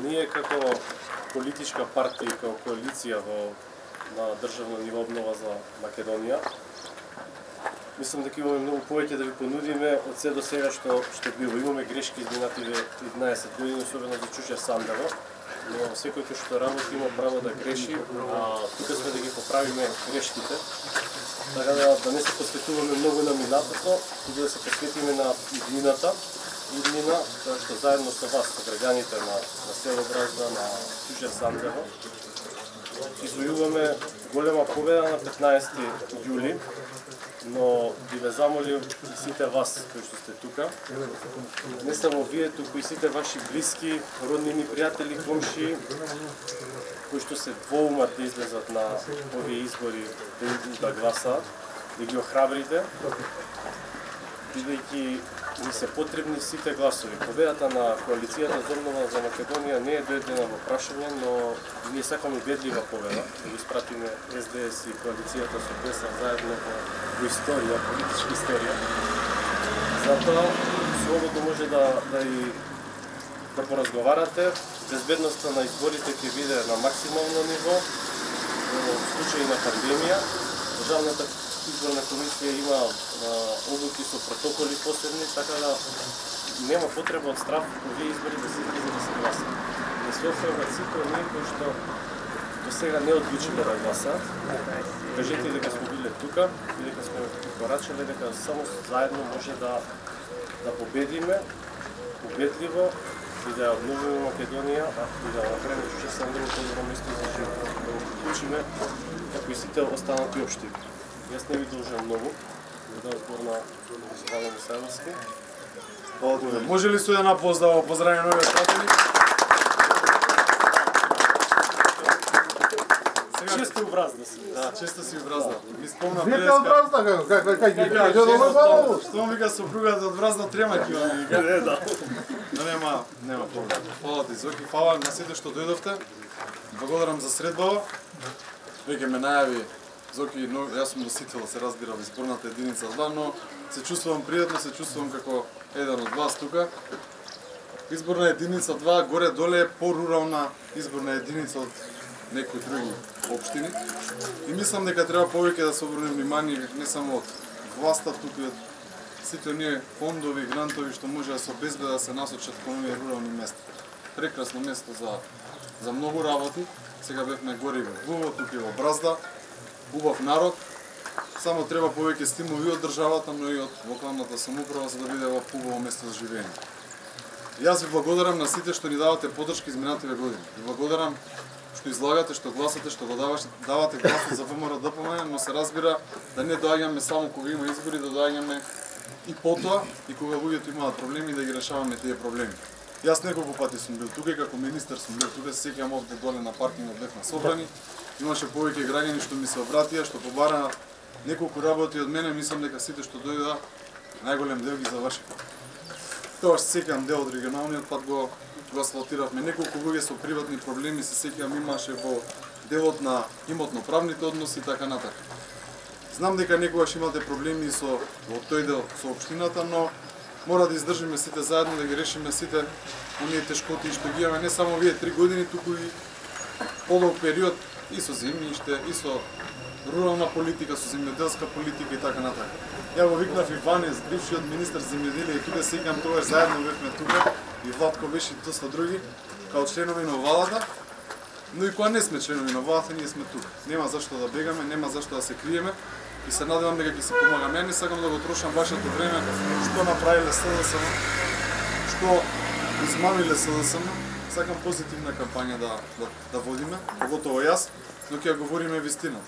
ние како политичка партија и како коалиција на државно ниво обнова за Македонија, мислам дека имаме многу повеќе да ви понудиме од се до сега што било. Имаме грешки изминативе 11 години, особено за Чучер Сандево, но секој кој што работи има право да греши, а тука сме да ги поправиме грешките. Така да не се посветуваме многу на минатото, туку да се посветиме на иднината, тоа што заедно со вас, со граѓаните на село Бразда, на Чучер Сандево, извојуваме голема победа на 15 јули, но би ве замолив и сите вас кои што сте тука, не само вие, туку и сите ваши блиски, роднини, пријатели, комши, кои што се двоумат да излезат на овие избори да гласаат, да ги охрабрите, бидејќи ни се потребни сите гласови. Победата на коалицијата за обнова за Македонија не е доедена во прашање, но ние сакаме убедлива победа, да го испратиме СДС и коалицијата со ДС заедно во историја, политичка историја. Затоа слободно може да поразговарате. Безбедноста на изборите ќе биде на максимално ниво во случај на пандемија. Државната изборна комисија има облуки со протоколи посебни, така да нема потреба од страф овие избори да се излезе да се гласа. Не се офрват сите оние кои што до сега не одлучиле да гласаат. Кажете дека сме биле тука и дека сме порачале дека само заедно може да победиме убедливо и да обновиме Македонија и да направиме Чучер Сандево подобро место за живот, да го вклучиме како и сите останати општини. Јас не ви должам многу, да збор на Вало Мисајловски. Благодарам. Може ли со една поздава поздравиме новиот пратеник? Често у Бразда си. Да, често си у Бразда. Ми спомна преска. Вие од Бразда кај Што ми вика сопругата од Бразда трема кила ми вика. Не, да. Но нема проблем. Фала ти Зоки, фала на сите што дојдовте. Благодарам за средбава. Веќе ме најави Зоки, јас сум носител, се разбира, во изборната единица 2, но се чувствувам пријатно, се чувствувам како еден од вас тука. Изборна единица 2 горе-доле е порурална изборна единица од некои други општини. И мислам дека треба повеќе да се обрне внимание не само од власта, туку и од сите оние фондови, грантови што може да се обезбедат да се насочат кон овие рурални места. Прекрасно место за многу работи. Сега бевме горе во Вуво, тука и во Бразда. Убав народ, само треба повеќе стимули од државата, но и од локалната самоуправа за да биде ова убаво место за живење. Јас ви благодарам на сите што ни давате поддршка изминативе години. Ви благодарам што излагате, што гласате, што го давате гласот за ВМРО ДПМН, но се разбира да не доаѓаме само кога има избори, да доаѓаме и потоа и кога луѓето имаат проблеми да ги решаваме тие проблеми. Јас неколку пати сум бил тука, како министер сум бил тука, се сеќавам овде доле на паркингот бевме собрани. Имаше повеќе граѓани што ми се обратија, што побара неколку работи од мене, мислам дека сите што дојдоа, најголем дел ги завршија. Тоа се сеќавам дел од регионалниот пат го асфалтиравме. Неколку луѓе со приватни проблеми се сеќавам имаше во делот на имотно-правните односи и така натака. Знам дека некогаш имате проблеми со во тој дел со општината, но мора да издржиме сите заедно, да ги решиме сите оние тешкоти што ги имаме не само вие 3 години, туку и подолг период и со земјиште, и со рурална политика, со земјоделска политика и така натака. Ја го викнав и Ванес, бившиот министер земјоделие, и тука сеќавам тогаш заедно бевме тука, и Владко беше и доста други, као членови на владата, но и кога не сме членови на владата, ние сме тука. Нема зашто да бегаме, нема зашто да се криеме, и се надевам дека ќе се помагаме. Ја не сакам да го трошам вашето време, што направиле СДСМ, што измамиле СДСМ. Сакам позитивна кампања да водиме, поготово јас, но ќе говориме вистината.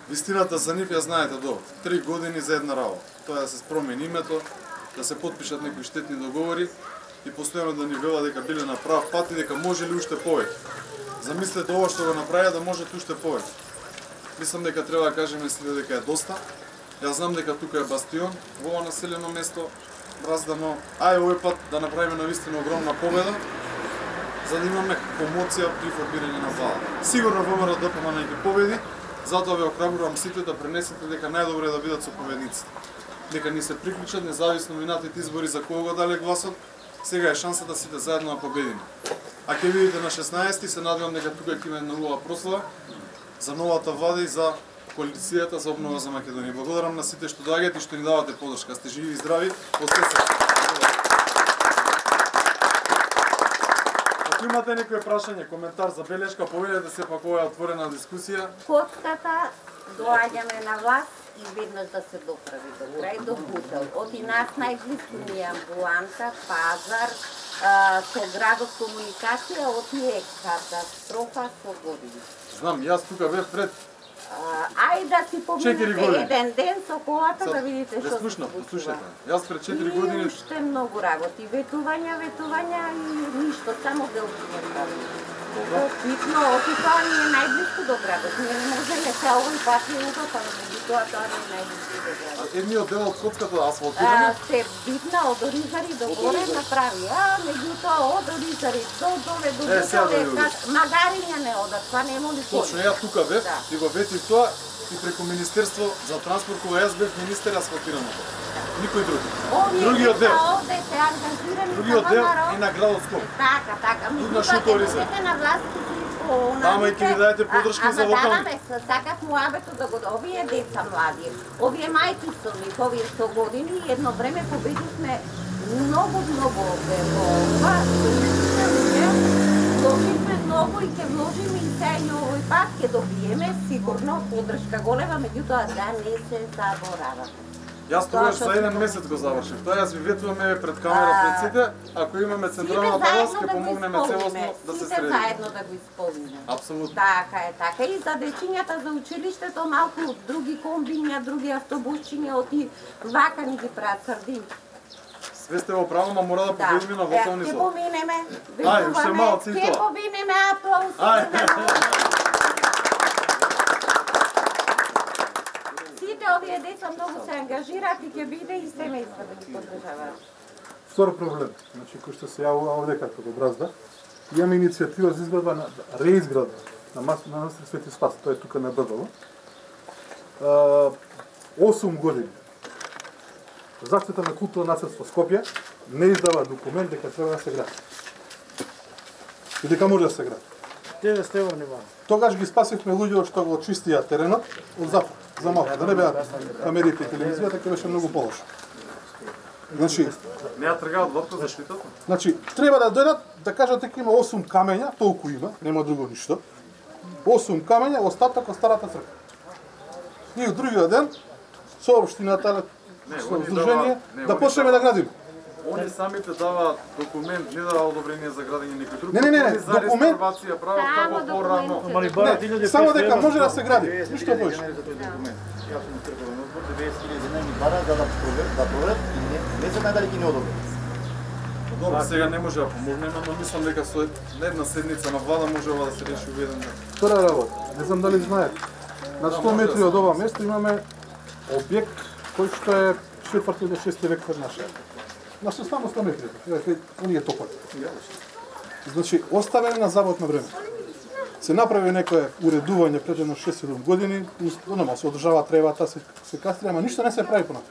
Вистината за нив ја знаете добро. 3 години за една работа. Тоа да се промени името, да се потпишат некои штетни договори и постојано да ни вела дека биле на прав пат и дека може ли уште повеќе. Замислете ова што го направија да можат уште повеќе. Мислам дека треба да кажеме сите дека е доста. Јас знам дека тука е бастион во ова населено место, Бразда, но ај овој пат да направиме навистина огромна победа, за да имаме промоција при формирање на влада. Сигурно ВМРО ДПМН ќе победи, затоа ве охрабрувам сите да пренесете дека најдобро е да бидат со победниците. Дека ни се приклучат независно минатите избори за кого го дале гласот, сега е шанса да сите заедно да победиме. а ќе видите на 16 се надевам дека тука ќе има нова прослава за новата влада и за коалицијата за обнова за Македонија. Благодарам на сите што доаѓате и што ни давате подршка. Сте живи и здрави. Ако имате некој прашање, коментар, забелешка, повелете се пак ова е отворена дискусија. Котката доаѓаме на власт и веднаш да се доправи до крај до Бутел. Оти нас најблиску ни е амбуланта, пазар, со градот комуникација, оти е катастрофа со години. Знам, јас тука бев пред Ајде да си поминете еден ден со колата да видите што се случува. Слушате, јас пред 4 години уште многу работи, ветувања и ништо, само делчиња прави. Битно, оти тоа ни е најблиску до градот. Ние не можеме се овој пат и удопано, меѓутоа тоа ни е најблиску до градот. Едниот дел од котката асфалтирано? Се битна од Оризари до горе направи, меѓутоа од Оризари до доле до Бутел, магариња не одат, па не моли кој. Точно, ја тука бев и го ветив тоа и преку Министерство за транспорт, кога јас бев министер, асфалтирано. Никој други. Другиот дел. Другиот дел е на градот Скопје. Така. Меѓутоа на власт Тама и ќе ви дадете подршка за локални. Сакат муабето да го овие деца млади, овие мајки со нив, овие со години, едно време победивме многу ова, вложивме многу и ќе вложиме и сега и овој пат ќе добиеме сигурно подршка голема, меѓутоа да не се заборава. Јас тогаш за еден месец го завршив. Тоа јас ви ветуваме пред камера пред сите, ако имаме централна власт ќе помогнеме целосно да се среди. Сите заедно да го исполниме. Апсолутно. Така и за дечињата за училиштето малку други комбиња, други автобусчиња оти вака ни ги прават срдини. Све сте во право, ма мора да победиме на вокални зони. Ќе поминеме. Ај, уште малци и тоа. Ќе поминеме, аплауз. Овие деца многу се ангажираат и ќе биде и семејства да ги поддржаваат. Втор проблем, значи кој што се јавува овде како го бразда, имаме иницијатива за изградба на реизградба на манастир Свети Спас, тоа е тука на Брдово. 8 години. Заштита на културно наследство Скопје не издава документ дека треба да се гради. И дека може да се гради. Тебе сте во внимание. Тогаш ги спасивме луѓето што го чистија теренот од запад, за малку, да не беа камерите и телевизијата, ќе беше многу полошо. Значи, не ја тргаат водка за штитата? Значи, треба да дојдат да кажат дека има 8 камења, толку има, нема друго ништо. 8 камења, остаток од старата црква. И од другиот ден со општината, со здружение да почнеме да градиме. Они самите даваат документ, не дава одобрение за градење некој друг. Не, за резервација прават како порано. Само дека може да се гради, ништо повеќе. Јас сум црквен одбор, 90.000 дена ми бара да проверат и не се најдали ќе не одобрат. Добро, сега не може да помогнеме, но мислам дека со една седница на влада може ова да се реши во еден ден. Втора работа, не знам дали знаете. На 100 метри од ова место имаме објект кој што е 4 или 6 век пред наша. На само 100 метри, оние топат. Значи, оставени на завод на време. Се направи некое уредување пред едно 6-7 години, нормално се одржава тревата, се кастрија, ама ништо не се прави понатаму.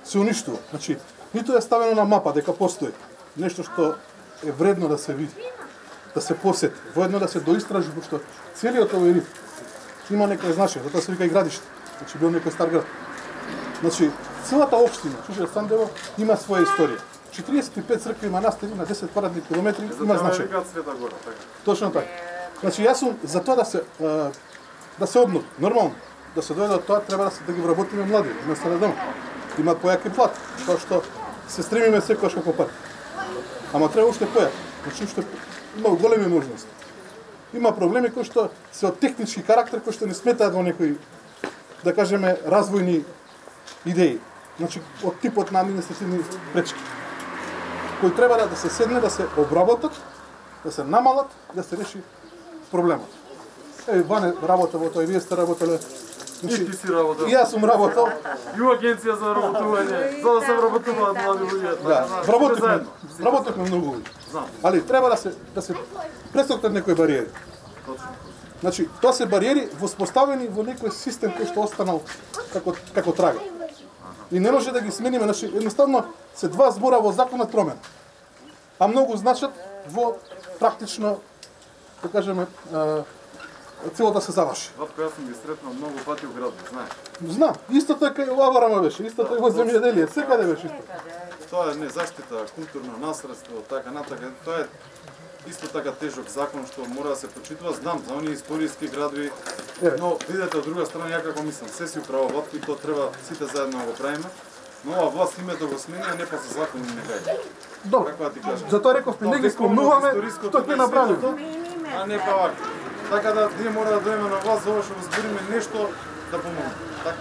Се уништува. Значи, ниту е ставено на мапа дека постои нешто што е вредно да се види, да се посети, воедно да се доистражи, пошто целиот овој риф има некој значење, затоа се вика и градиште. Значи, бил некој стар град. Значи, целата општина, Чучел Сандево, има своја историја. 45 цркви манастири на 10 квадратни километри има значење. Точно така. Значи, јас сум за тоа да се обнови. Нормално, да се дојде од тоа, треба да ги вработиме млади, вместо да дома. Имаат појаки плат, тоа што се стремиме секојаш како пат. Ама треба уште појак. Значи, уште има големи можности. Има проблеми кои што се од технички карактер, кои што не сметаат во некои, да кажеме, развојни идеи. Значи, од типот на административни пречки, кои треба да се седне, да се обработат, да се намалат, да се реши проблемот. Ване работа во тоа, и вие сте работеле. Значи, и ти си работел. И јас сум работел. И у агенција за работување, за да се вработуваат млади луѓе. Да, работевме многу луѓе. Али треба да се пресокнат некои бариери. Значи, тоа се бариери воспоставени во некој систем кој што останал како трага. И не може да ги смениме, значи едноставно се два збора во законот промен. А многу значат во практично, да кажеме, целото се заврши. Ватко, јас сум ги сретнал многу пати у градот, знаеш. Знам, исто така и во Аварама беше, исто така и во земјоделие, секаде беше исто. Тоа е не заштита, културно наследство, така натака. Тоа е исто така тежок закон што мора да се почитува. Знам за оние историски градови, но видете од друга страна ја како мислам, се си управа Ватко и тоа треба сите заедно да го правиме. Но ова власт името го смени, а не па се закони не гај. Добро, Како да ти кажам? затоа реков, не ги спомнуваме, тоа ќе направиме. А не па вака. Така да ние мора да дојдеме на власт за ова што го збориме нешто да помогне. Така.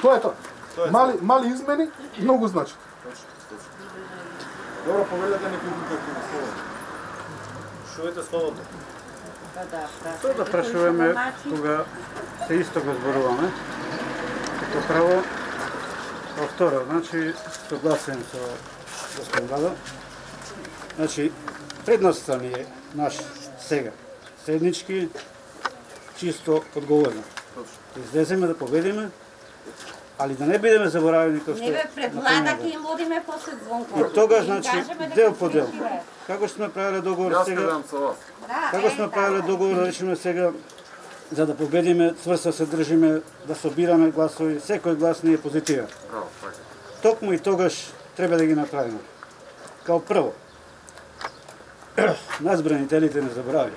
Тоа е тоа. Мали измени, многу значи. Добро, повелете некој друг како слободно. Шувате слободно. Тоа да прашуваме кога се исто го зборуваме. Како право, а второ, значи согласен со господин Владо. Значи предноста ни е наш сега. Седнички, чисто одговорно. Излеземе да победиме, али да не бидеме заборавени како што... Не бе, пред влада ќе им водиме после звонка. И тогаш, значи, дел по дел. Како сме правиле договор Јас сега? гледам со вас. Како сме правиле договор, да речеме сега, за да победиме, цврсто се држиме, да собираме гласови, секој глас не е позитивен. Браво, така. Токму и тогаш треба да ги направиме. Као прво, нас бранителите не забрави.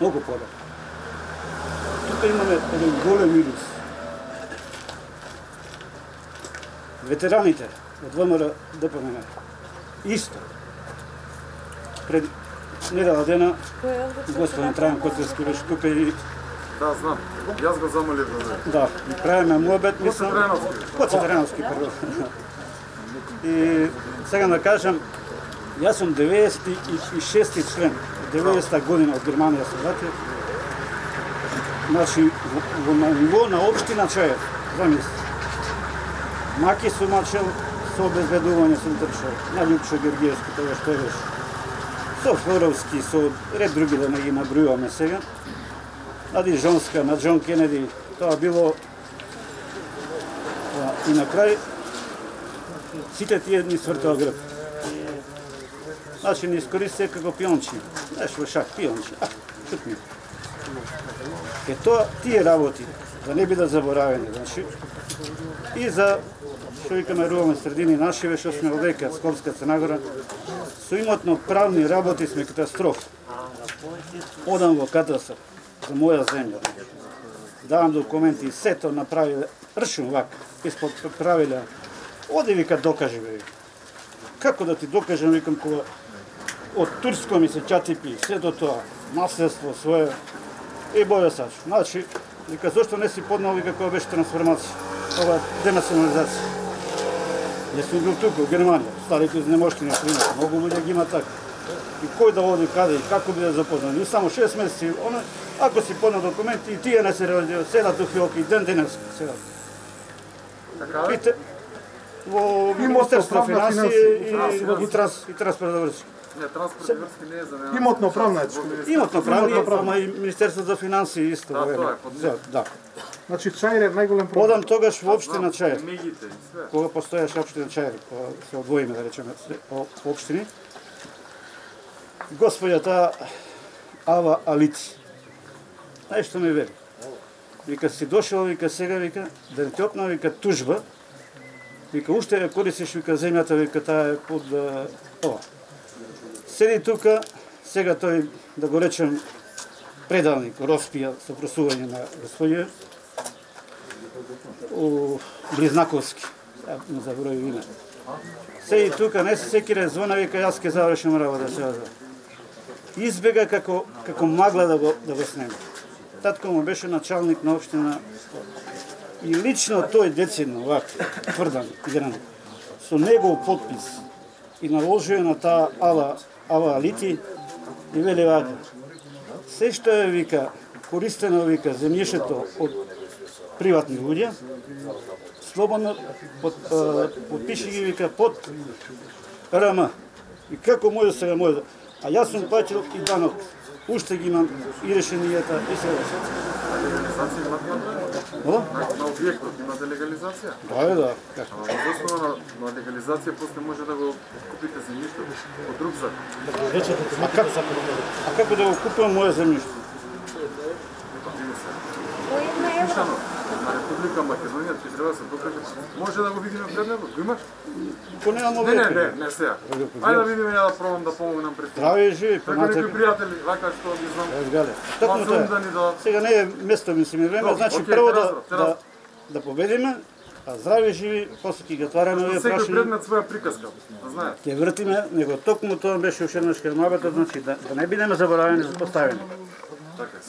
Многу подобро. Тука имаме еден голем минус. Ветераните од ВМРО ДПМН исто пред недела дена господин Трајан Коцевски беше тука и Да, знам. Јас го замолив да дойде. да, и правиме муабет, мислам. Коце Треновски, прво. И сега да кажам, јас сум 96-ти член, 90-та година од Германија се вратив. Значи, на ниво на општина Чајев, замисли. Маки сум мачел со обезбедување сум трчал, на Љупчо Георгиевски, тоа што беше. Со Флоровски, со ред други да не ги набројуваме сега. На Дижонска, на Џон Кенеди, тоа било и на крај сите тие ни свртува грб. Значи ни искористија како пиончи. Знаеш во шах, пиончи. Шутни. Е тоа тие работи, да не бидат заборавени, значи, и за што викаме рурални средини нашиве, што сме одека, Скопска, Црнагора, со имотно правни работи сме катастрофа. Одам во катастроф за моја земја. Давам документи, сето направиле, ршим вака, испод правиле. Оди вика докажи бе. Како да ти докажам, викам, кога од турско ми се чатипи, сето тоа, наследство свое, и боја сач. Значи, вика, зошто не си поднал, вика, кога беше трансформација, ова денационализација. Не сум бил тука, во Германија, старите изнемоштени, многу луѓе ги има така. И кој да оди каде и како биде запознан. И само 6 месеци, ако си поднал документи, и тие не се реализират, седат у фиоки, ден денес седат. Пите, во Министерство на финансии и транспорт врски. Не, транспорт и врски не е за мене. Имотно правна е. Имотно правни, ама и Министерство за финансии исто. Да, тоа е под него. Да. Значи Чаир е најголем проблем. Одам тогаш во општина Чаир. Мегите и све. Кога постоеше општина Чаир, кога се одвоиме, да речеме, по општини. Господјата Ава Алици. Знаеш што ми вели? Вика, си дошол, вика, сега, вика, да не те опна, вика, тужба. Вика, уште ја користиш, вика, земјата, вика, таа е под ова. Седи тука, сега тој, да го речем, предалник, Роспија, со просување на господје, у Близнаковски, не заброи име. Седи тука, не се секире, звона, вика, јас ке завршим работа сега. Избега како магла да го снеме. Татко му беше началник на општина и лично тој децидно, вака, тврдан, игран, со негов подпис и наложува на таа Ава Алити и вели вака, се што е, вика, користено, вика, земјишето од приватни луѓе, слободно подпиши ги, вика, под РМ. И како може сега може? А јас сум платил и данок уште ги имам и решенијата и се. Легализација имате на објектот, имате легализација? Да. Ама во основа на легализација после може да го купите земјиштето од друг закон. А како да го купам моје земјиште? По 1 евро. На Република Македонија ти треба да се докаже. Може да го видиме предметот? Го имаш? Не сега. Ајде да видиме, ја да пробам да помогнам пред. Здраве и живи, Како некои пријатели, вака што ги знам. Гале. Токму тоа. Сега не е место ми се ми време, значи прво да победиме, а здраве и живи, после ќе ги отвараме овие прашања. Секој предмет своја приказка, да знаете. Ќе вртиме, него токму тоа беше уште еднаш кермабата, значи да не бидеме заборавени за поставени.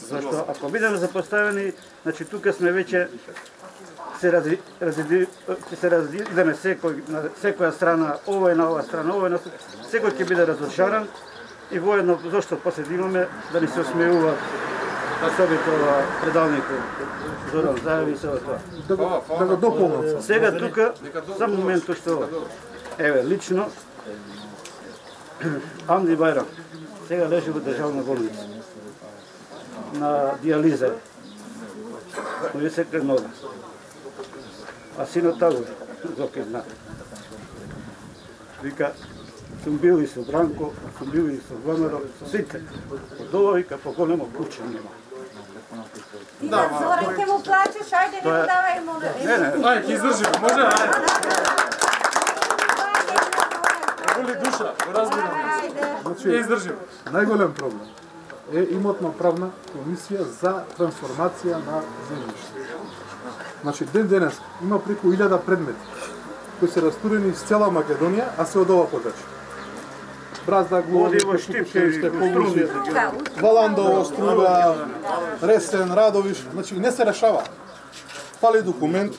Зашто ако бидеме запоставени, значи тука сме веќе се разидеме секој на секоја страна, овој на оваа страна, овој на секој ќе биде разрушаран и воедно зашто после да имаме да ни се осмеува особито предавникот Зоран Заев и се тоа. Да го дополнам. Сега тука за моментот што еве лично Анди Бајрам сега лежи во државна болница на диализа. Тој се кренога. А синот Тагор, Зоки зна. Вика, сум бил и со Бранко, сум бил и со Вамеро, со сите. Од ова вика, поголемо куче нема. Ти на Зоран ќе му плачеш, ајде не му давај му. Ајде, ќе издржиме, може? Боли душа, го разбирам. Ќе издржиме. Најголем проблем е имотно-правна комисија за трансформација на земјиште. Значи, ден денес има преку 1000 предмети кои се растурени из цела Македонија, а се од ова подрачје. Бразда, Глови, Кошупчевиште, Полужи, Валандово, Струга, Ресен, Радовиш, значи не се решава. Фали документ,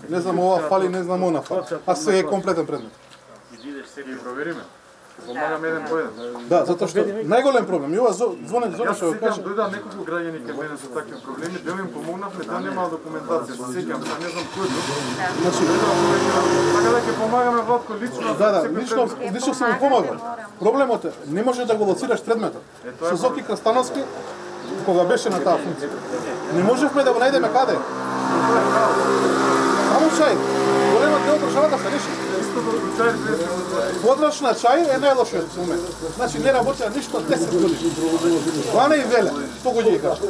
не знам ова фали, не знам она фали, а се е комплетен предмет. Ги провериме. Помагаме еден по еден. Да, затоа што најголем проблем, и ова звонет Зоран што го кажа. Дојдоа неколку граѓани кај мене со такви проблеми, дел им помогнавме, дел немаа документација, се сеќам, не знам кој е. Значи, така да ќе помагаме Владко лично. Да, лично се му помагам. Проблемот е, не може да го лоцираш предметот. Со Зоки Крастановски, кога беше на таа функција, не можевме да го најдеме каде. Само чај, големот дел државата се реши. Подрачна чај е најлошиот момент. Значи не работи ништо 10 години. Ване и Веле, тоа ги кажа.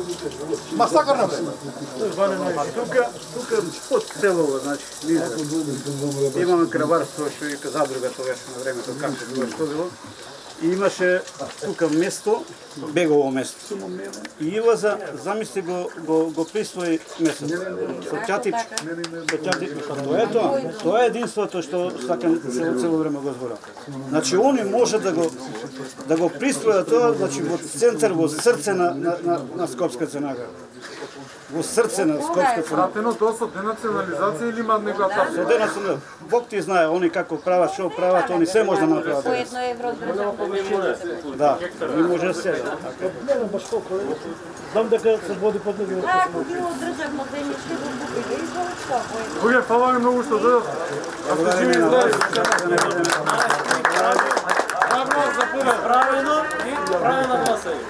Масакар на време. Тука под селово, значи, имаме краварство што вика задруга тогаш на времето како што било. И имаше тука место, бегово место. И Иваза, замисли го присвои место. Со чатички. Тоа е единството што сакам цело време го зборам. Значи они може да го присвојат тоа, значи во центар, во срце на Скопска Ценага. Во срце на Скопска Ценага. Пратено тоа со денационализација или има некоја тапка? Со денационализација. Бог ти знае, они како прават, што прават, они се може да направат. По 1 евро држава. Да, не може се. Не знам баш колку, знам дека се води под него. Ако било државно земјиште, го купите и за што? Луѓе, фала ви многу што дојдов. Ако живи и здрави. Правилно за правилно и правилно гласање.